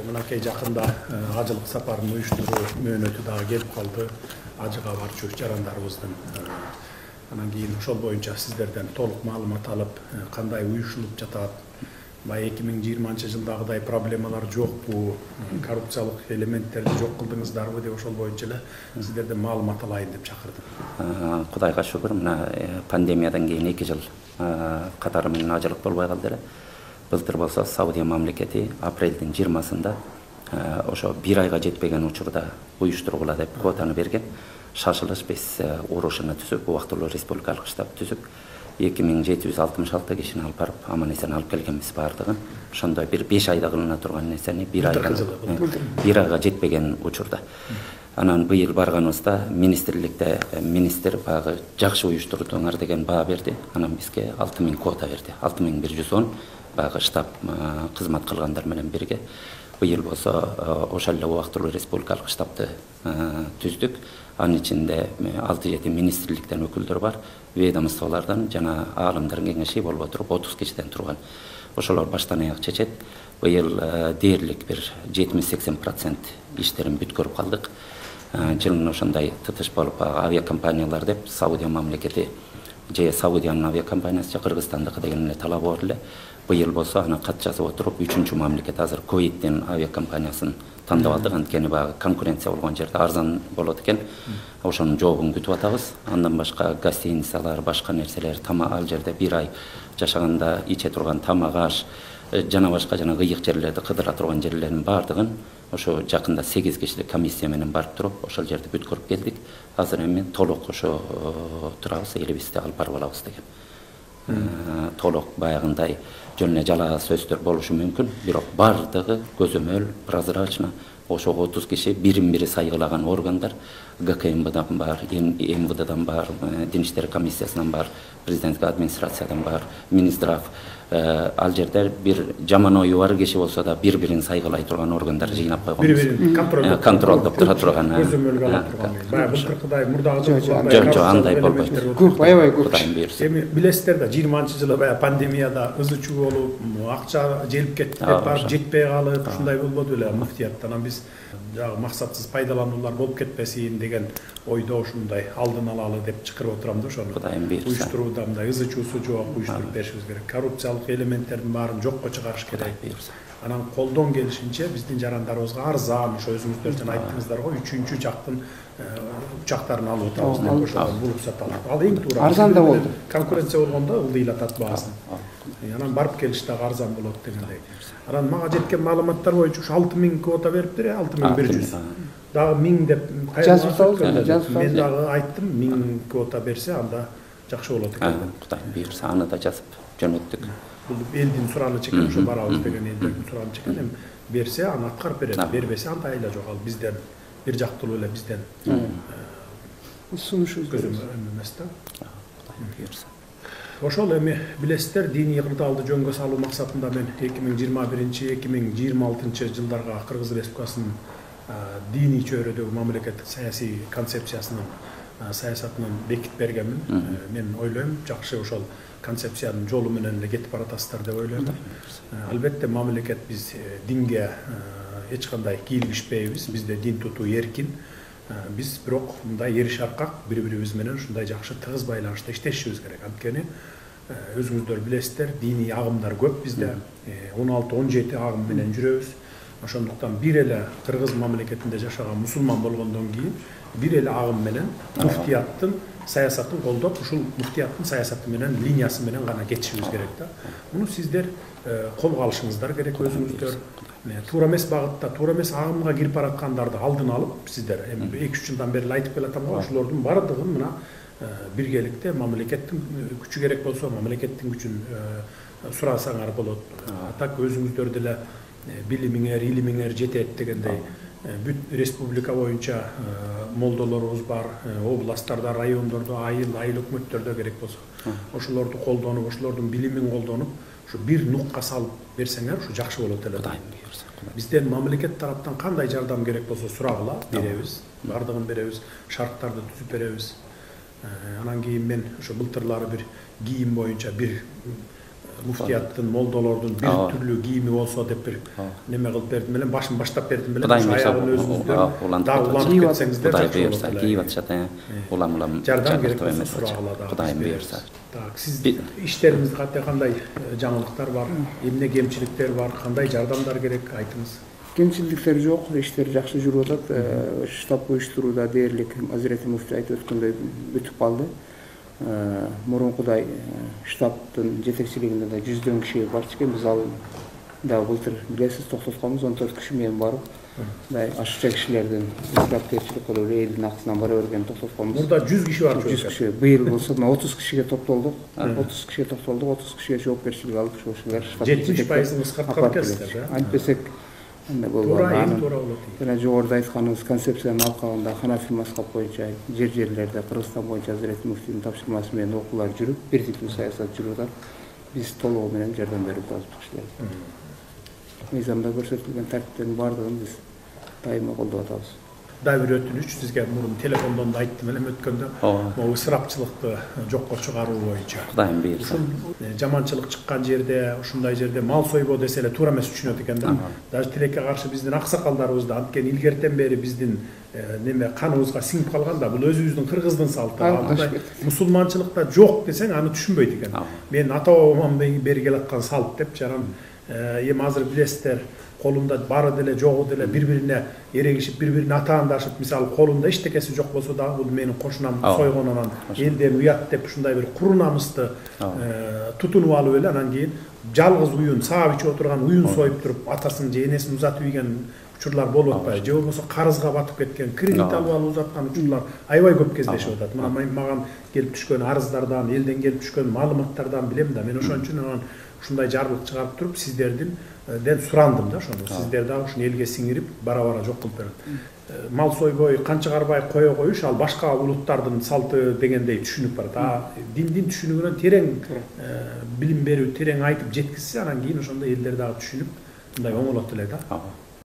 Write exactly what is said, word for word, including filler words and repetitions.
Мынакей жакында ажылык сапарын уюштуруу мөөнөтү дагы келип калды. Ажыга барчу жарандарыбыздын. Анан кийин ошол боюнча сиздерден толук маалымат алып, кандай уюшулуп жатат, бай эки миң жыйырманчы жылдагыдай проблемалар жокпу, коррупциялык элементтерди жок кылдыңыздарбы деп ошол боюнча эле сиздерден маалымат алайын деп чакырдым. Кудайга шүгүр, мына пандемиядан кийин эки жыл катары менен ажылык болбой калды эле. Былтыр болсо Саудия мамлекети апрелдин жыйырмасында ошо бир айга жетпеген учурда уюштургула деп квотаны берген. Шашылыш биз урушуна түзүп, убактылуу республикалык штаб түзүп, эки миң жети жүз алтымыш алты кишини алып барып, аман эсен алып келгенбиз баардыгын. Ошондой бир беш айда кылына турган нерсени бир айга бир айга жетпеген учурда. Анан быйыл барганыбызда министрликте министр багы жакшы уюштурдуңар деген баа берди. Анан бизге алты миң квота берди. алты миң бир жүз он багы штаб кызмат кылгандар менен бирге. Быйыл болсо ошол эле убактылуу республикалык штабты түздүк. Анын ичинде алты жети министрликтен өкүлдөр бар, ведомстволордон жана аалымдардын кеңеши болбой туруп отуз кишиден турган. Ошолор баштан аяк чечет. Быйыл дээрлик бир жетимиш сексен процент иштерин бүткөрүп калдык. Жылын ошондой тытыш болуп, авиакомпаниялар деп Саудия мамлекети же Саудиянын авиакомпаниясы же Кыргызстандыкы деген эле талап бар эле. Быйыл болсо аны кат жазып отуруп, үчүнчү мамлекет азыр Кувейттин авиакомпаниясын тандап алдык. Анткени баягы конкуренция болгон жерде арзан болот экен. Ошонун жообун күтүп атабыз. Андан башка гостиницалар, башка нерселер, тамак ал жерде бир ай жашаганда иче турган тамак аш, жана башка жана кыйык жерлерди кыдыра турган жерлердин баардыгын ошо жакында сегиз кишилик комиссия менен барып туруп, ошол жерди бүткөрүп келдик. Азыр эми толук ошо турабыз, элибизди алып барып алабыз деген. Толук баягындай жөн эле жалаа сөздөр болушу мүмкүн, бирок баардыгы көзөмөл, прозрачно, ошо отуз киши бирин бири сайгылаган органдар, ГКМБдан бар, МВДдан бар, Дин иштери комиссиясынан бар, президенттик администрациядан бар, Минздрав, ал жерде бир жаман ою бар киши болсо да бири-бирин сайгылай турган органдар жыйнап койгонбуз. Бири-бирин контролдоп тура турган. Көзөмөлгө ала турган. Баягы былтыркыдай мурдагы жок, аандай болбойт. Көп, аябай көп. Эми билесиздер да, жыйырманчы жылы баягы пандемияда ызы чуу болуп, акча желип кетти деп барып жетпей калып, ушундай болбоду беле муфтияттан. Анан биз жагы максатсыз пайдалануулар болуп кетпесин деген ойдо ушундай алдын алалы деп чакырып отурам да ошону. Кудайым буйрса. Уюштурууда мындай ызы чуусу жок уюштуруп беришибиз керек. Коррупциялык элементтердин баарын жокко чыгарыш керек. Анан колдон келишинче биздин жарандарыбызга арзан, ошо өзүңүздөр жана айттыңыздар го, үчүнчү жактын учактарын алып отурабыз деп ошо булуп саталат. Ал эң туура. Арзан да болду. Конкуренция болгондо ылдыйлатат баасын. Анан барып келиш дагы арзан болот дегендей. Анан мага жеткен маалыматтар боюнча ушу алты миң квота бериптир, алты миң бир жүз. Дагы миң деп жазып атабыз, мен дагы айттым, миң квота берсе анда жакшы болот экен деп. Кудайым буйрса аны да жазып жөнөттүк. Бул элдин суранычы экен, ошо барабыз деген элдердин суранычы экен. Эми берсе аны аткарып берет, бербесе анда айла жок. Ал бизден бир жактылуу эле бизден сунушубуз эмес да. Кудайым буйрса. Ошол эми билесиздер, диний кырдаалды жөнгө салуу максатында мен эки миң жыйырма биринчи эки миң жыйырма алтынчы жылдарга Кыргыз Республикасынын диний чөйрөдөгү мамлекеттик саясий концепциясынын саясатынан бекитип бергенмин. Мен ойлойм, жакшы ошол концепциянын жолу менен эле кетип баратасыздар деп ойлойм. Албетте мамлекет биз динге эч кандай кийлигишпейбиз, бизде дин тутуу эркин. Биз бирок мындай эриш аркак бири-бирибиз менен ушундай жакшы тыгыз байланышта иштешибиз керек. Анткени өзүңүздөр билесиздер, диний агымдар көп бизде. он алты он жети агым менен жүрөбүз. Ошондуктан бир эле Кыргыз мамлекетинде жашаган мусулман болгондон кийин бир эле агым менен муфтияттын саясатын колдоп, ушул муфтияттын саясаты менен, линиясы менен гана кетишибиз керек да. Муну сиздер колго алышыңыздар керек өзүңүздөр. Туура эмес багытта, туура эмес агымга кирип бараткандарды алдын алып, сиздер эми эки үч жылдан бери айтып келатам го, ошолордун баардыгын мына биргеликте мамлекеттин күчү керек болсо, мамлекеттин күчүн сурасаңар болот. Так өзүңүздөр деле билимиңер, илимиңер жетет дегендей бүт республика боюнча молдолорубуз бар, областтарда, райондордо, айыл, айыл өкмөттөрдө керек болсо, ошолорду колдонуп, ошолордун билимин колдонуп, ушу бир нукка салып берсеңер, ушу жакшы болот эле. Бизден мамлекет тараптан кандай жардам керек болсо сурагыла, беребиз, бардыгын беребиз, шарттарды түзүп беребиз. Анан кийин мен ошо былтырлары бир кийим боюнча бир муфтияттын, молдолордун бир түрлүү кийими болсо деп бир неме кылып бердим элем, башын баштап бердим элем. Ошо аягын өзүңүздөн дагы улантып кетсеңиздер жакшы болот. Кийип атышат, улам улам жардам керек болсо сурагыла дагы. Кудайым буйрса. Так, сиз иштериңизде кандай жаңылыктар бар, эмне кемчиликтер бар, кандай жардамдар керек, айтыңыз. Кемчиликтер жок, иштер жакшы жүрүп атат. Штаб уюштурууда дээрлик Азирети муфтий айтып өткөндөй бүтүп калды. Мурункудай штабтын жетекчилигинде да жүздөн киши барчу экен. Биз ал дагы былтыр билесиз токтотконбуз, он төрт киши менен барып, мындай ашыкча кишилердин исрапкерчилик кылып элдин акысынан бара бергенин токтотконбуз. Мурда жүз киши бар. жүз киши. Быйыл болсо отуз кишиге топтолдук. отуз кишиге топтолдук, отуз кишиге жоопкерчилик алдык. Ошолар жетимиш пайызын кыскарткан экенсиздер, да? Антпесек андай болбойт. Туура, туура болот. Жана жогоруда айтканыбыз концепциянын алкагында Ханафи мазхаб боюнча жер жерлерде Кыргызстан боюнча Азирети муфтийдин тапшырмасы менен окуулар жүрүп, бир типтүү саясат жүрүп атат. Биз толугу менен жардам берип атабыз кишилерге. Мыйзамда көрсөтүлгөн тартиптин баардыгын биз дайыма колдоп атабыз. Дагы бир өтүнүч, сизге мурун телефондон да айттым элем өткөндө, могу ысырапчылыкты жокко чыгаруу боюнча. Кудайым буйрса. Жаманчылык чыккан жерде, ушундай жерде мал сойбоо десе эле туура эмес түшүнөт экен да. Даже тилекке каршы биздин аксакалдарыбыз да анткени илгертен бери биздин неме каныбызга сиңип калган да, бул өзүбүздүн кыргыздын салты. Андай мусулманчылыкта жок десең аны түшүнбөйт экен. Мен ата-бабамдан бери келаткан салт деп жаран эми азыр билесиздер, колунда бары деле жогу деле бири-бирине эрегишип, бири-бирине атаандашып, мисалы колунда эчтекеси жок болсо да бул менин кошунам сойгон, анан элден уят деп ушундай бир куру намысты тутунуп алып эле анан кийин жалгыз уюн саап ичип отурган уюн союп туруп атасын же энесин узатып ийген учурлар болуп атпайбы, же болбосо карызга батып кеткен, кредит алып алып узаткан учурлар аябай көп кездешип атат. Мына мага келип түшкөн арыздардан, элден келип түшкөн маалыматтардан билем да. Мен ошон үчүн анан ушундай жарлык чыгарып туруп сиздердин ден сурандым да ошону. Сиздер дагы ушуну элге сиңирип, бара-бара жок кылып берет. Мал сойбой, канча карбай кое коюш ал башка улуттардын салты дегендей түшүнүп барат. А диндин түшүнүгүнөн терең билим берүү, терең айтып жеткизсе, анан кийин ошондой элдер дагы түшүнүп, мындай оңолот эле да.